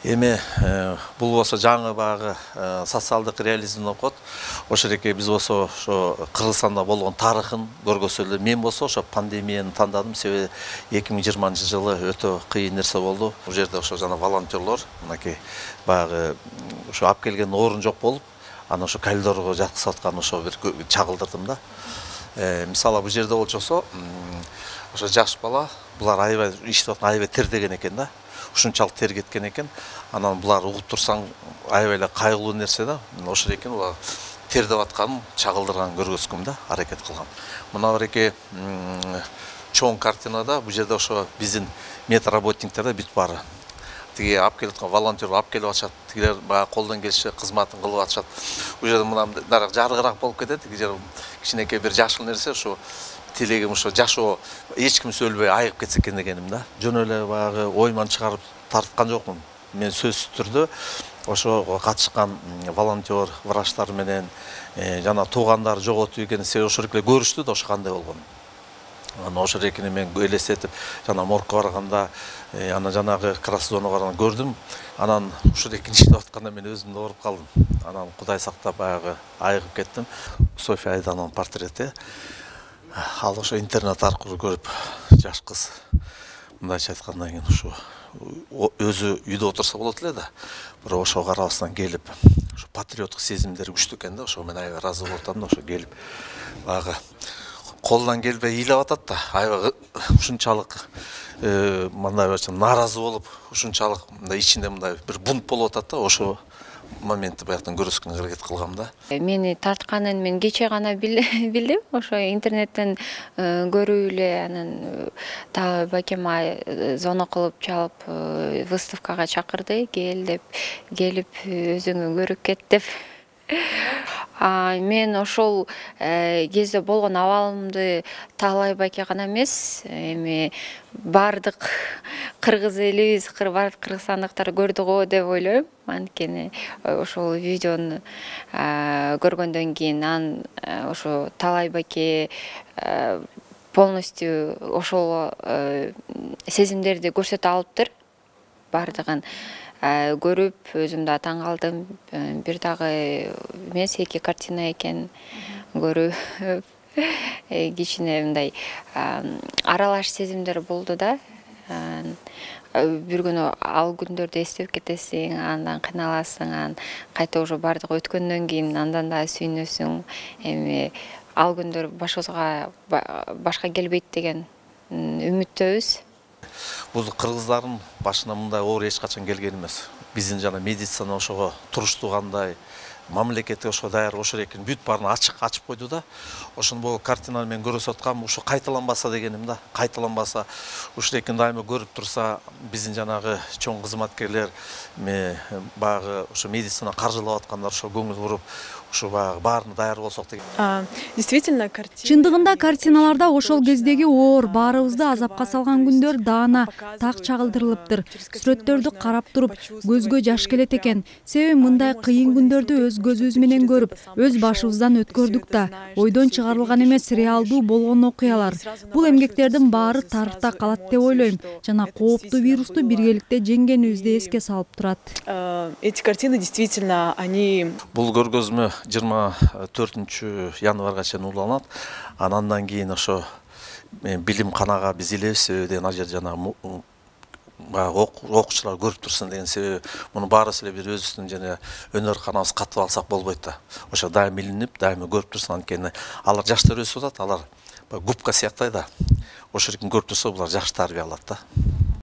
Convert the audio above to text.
Эми бул болсо жаңы баягы социалдык реализм деп коет. Ошо эреке биз болсо ошо Кыргызстанда болгон тарыхын көргөзсө эле, мен болсо ошо пандемияны тандадым. Себеби 2020-жылы өтө кыйын нерсе болду. Бул жерде ошо жана волонтерлор мынакей баягы ошо алып келген орун жок болуп, аны ошо коридорго жаткызып аткан ошо бир чагылдырдым да. Мисалы бул жерде болчосо ошо жаш бала, булар аябай иштеп аткан, аябай тердеген экен да. Ушунчалык тер кеткен экен. Анан булар угуп турсаң аябай эле кайгылуу нерсе да. Ошо экен булар тердеп атканын чагылдырган көргөзгөм да, аракет кылгам. Мына эреке чоң картинада бул жерде ошо биздин медработниктер да бүт баары. Тиги алып келип аткан волонтер алып келип атышат. Тигилер баягы колдон келиши кызматын кылып атышат. Бул жерде мына жарыгыраак болуп кетет. Тиги жер кичинекей бир жашыл нерсе ошо тилегим ошо жашоо эч ким өлбөй айыгып кетсе экен дегеним да. Жөн эле баягы ойман чыгарып тарткан жокмун. Мен сөзсүз түрдө ошо катышкан волонтер, врачтар менен жана туугандар жоготуп экен, себеби ошо эле көрүштү да ошо кандай болгонун. Анан ошо эрекени мен элестетип, жана моргко барганда, анан жанагы красзонага барганда көрдүм. Анан ошо эрекени иштеп атканда мен өзүм да ооруп калдым. Анан Кудай сактап баягы айыгып кеттим. София Айданын портрети. Ал ошо интернет аркылуу көрүп, жаш кыз мындайча айткандан кийин ушу өзү үйдө отурса болот эле да. Бирок ошо карабастан келип, ошо патриоттук сезимдери күчтүү экен да. Ошо мен аябай ыраазы болуп атам да, ошо келип баягы колунан келбей ыйлап атат да. Аябай ушунчалык мындай нааразы болуп, ушунчалык мындай ичинде мындай бир бунт болуп атат да. Ошо моментти баягыдан көрсөткөнгө аракет кылгам да. Мени тартканын мен кече гана билдим. Ошо интернеттен көрүп эле анан та бакема звонок кылып чалып выставкага чакырды, кел деп, келип өзүңө көрүп кет деп. Мен ошол кезде болгон абалымды Таалай байке гана эмес, эми бардык кыргыз элибиз, бардык кыргызстандыктар көрдү го деп ойлойм. Анткени ошол видеону көргөндөн кийин анан ошо Таалай байке полностью ошол сезимдерди көрсөтө алыптыр. Бардыгын көрүп өзүм да таң калдым. Бир дагы эмес, 2 картина экен көрүп кичине мындай аралаш сезимдер болду да. Бир күнү ал күндөрдү эстеп кетесиң, андан кыйналасың, анан кайта уже бардыгы өткөндөн кийин андан да сүйүнөсүң. Эми ал күндөр башыбызга башка келбейт деген үмүттөбүз. Бул кыргыздардын башына мындай оор эч качан келген эмес. Биздин жана медицина ошого туруштуу кандай, мамлекети ошо даяр, ошо экен бүт баарын ачып койду да. Ошону бул картинаны мен көрсөтүп аткам, ошо кайталанбаса дегеним да. Кайталанбаса, ушул экен дайыма көрүп турса, биздин жанагы чоң кызматкерлер, баягы ошо медицина каржылап аткандар ошо көңүл буруп, ушу баягы баарына даяр болсок деген. Действительно, чындыгында картиналарда ошол кездеги оор, баарыбызды азапка салган күндөр даана так чагылдырылыптыр. Сүрөттөрдү карап туруп, көзгө жаш келет экен. Себеби мындай кыйын күндөрдү өз көзүбүз менен көрүп, өз башыбыздан өткөрдүк да. Ойдон чыгарылган эмес, реалдуу болгон окуялар. Бул эмгектердин баары тарыхта калат деп ойлойм. Жана кооптуу вирусту биргеликте жеңгенибизди эске салып турат. Эти картины действительно, они... Бул көргөзмө 24 январга чейин уланат. Андан кийин ошо билим канага биз илебиз деген ал жер жана окуучулар көрүп турсун деген себеби муну баарыбыз эле бир өзүбүздүн жана өнөр канабыз катып алсак болбойт да. Ошо дайыма илинип, дайыма көрүп турсун, анткени алар жаштар өсүп атат, алар губка сыяктay да. Ошо эркин көрүп турса булар жакшы тарбия алат да.